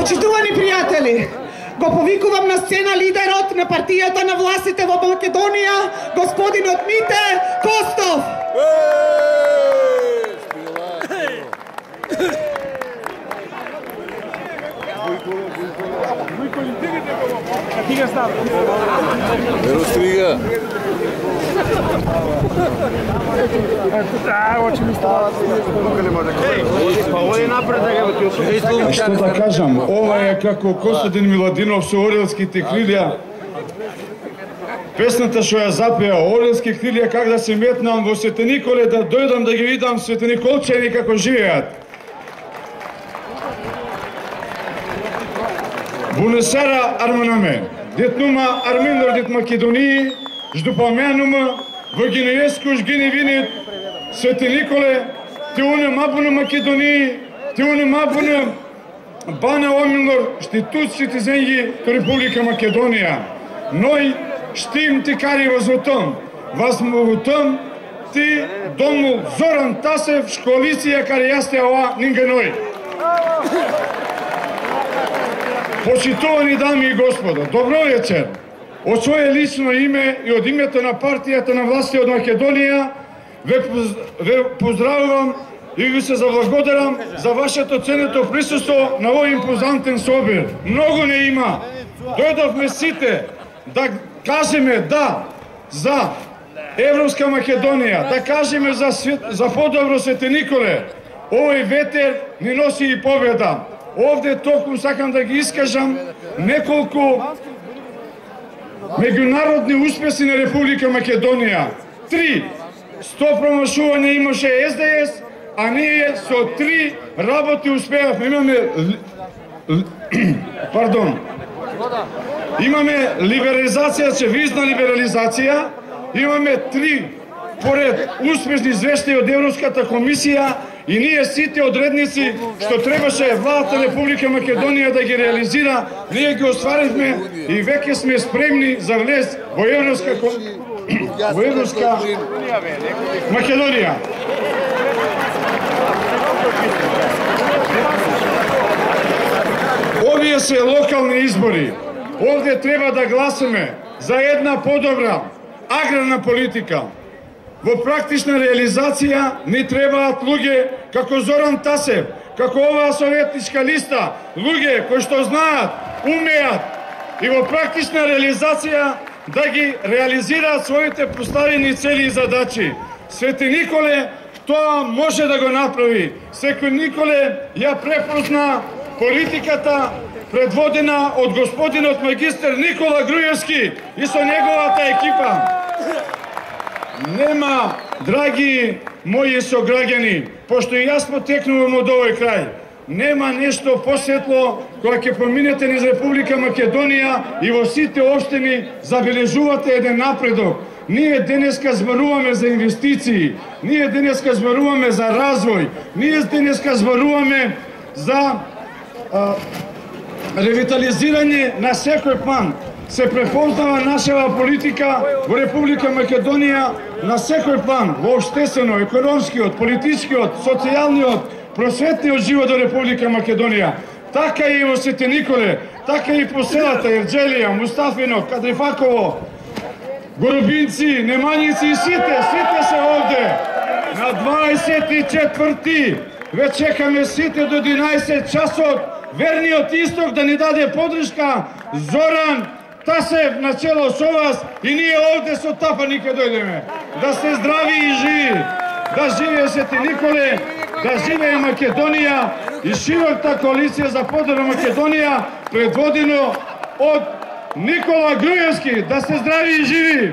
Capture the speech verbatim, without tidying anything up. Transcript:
Почитувани пријатели, го повикувам на сцена лидерот на партијата на властите во Македонија, господинот Мите Костов. Веро стрига. Што да кажам, ова е како Костадин Миладинов со Орелските крилја. Песната што ја запеа Орелски крилја, как да се метнам во Свети Николе, да дојдам да ги видам Свети Николчани како живеат. Бунесара Арманаме, детнума Армендор дет Македонии, ждупаменума, во Гинееску жгини винит, Свети Николе, те уне мабуна Македонии, те уне мабуна Бана Омилор, штитут цитизенги то Република Македонија. Ној штим ти кари возвотом, возмовутом ти дому Зоран Тасев, школиција кари јасте ова нинга ној. Почитувани дами и господа, добро вечер. Од своје лично име и од името на партијата на власти од Македонија ве, ве поздравувам и ви се заблагодарам за вашето ценето присуство на овој импозантен собир. Многу не има. Дојдовме сите да кажеме да за Европска Македонија, да кажеме за, свет, за подобро Свети Николе. Овој ветер ни носи и победа. Овде токму сакам да ги искажам неколку меѓународни успеси на Република Македонија. Три. Сто промашување имаше Ес Де Ес, а ние со три работи успеавме. Имаме пардон. Имаме либерализација, визна либерализација, имаме три поред успешни извештаи од Европската комисија и ние сите одредници што требаше владата на Република Македонија да ги реализира, ние ги остваривме и веќе сме спремни за влез во Европска во Европска Македонија. Овие се локални избори. Овде треба да гласаме за една подобра аграрна политика. Во практична реализација ни требаат луѓе како Зоран Тасев, како оваа советничка листа, луѓе кои што знаат, умеат и во практична реализација да ги реализираат своите поставени цели и задачи. Свети Николе тоа може да го направи. Свети Николе ја препозна политиката предводена од господинот магистер Никола Груевски и со неговата екипа. Нема, драги мои сограѓани, пошто и јас потекнувам од овој крај, нема нешто посветло кога ќе поминете низ Република Македонија и во сите општини забележувате еден напредок. Ние денеска зборуваме за инвестиции, ние денеска зборуваме за развој, ние денеска зборуваме за а, ревитализирање на секој план. Се препознава нашава политика во Република Македонија на секој план, во општествено, економскиот, политичкиот, социјалниот, просветниот живот во Република Македонија. Така и во Свети Николе, така и по селата Ерџелија, Мустафино, Кадрифаково, Горобинци, Немањици и сите, сите се овде. На дваесет и четврти ве чекаме сите до единаесет часот, верниот исток да ни даде подршка, Зоран Тасев начело со вас и ние овде со тапани ке дојдеме. Да сте здрави и живи, да живее Свети Николе, да живее Македонија и широка коалиција за подобра Македонија предводено од Никола Груевски. Да сте здрави и живи!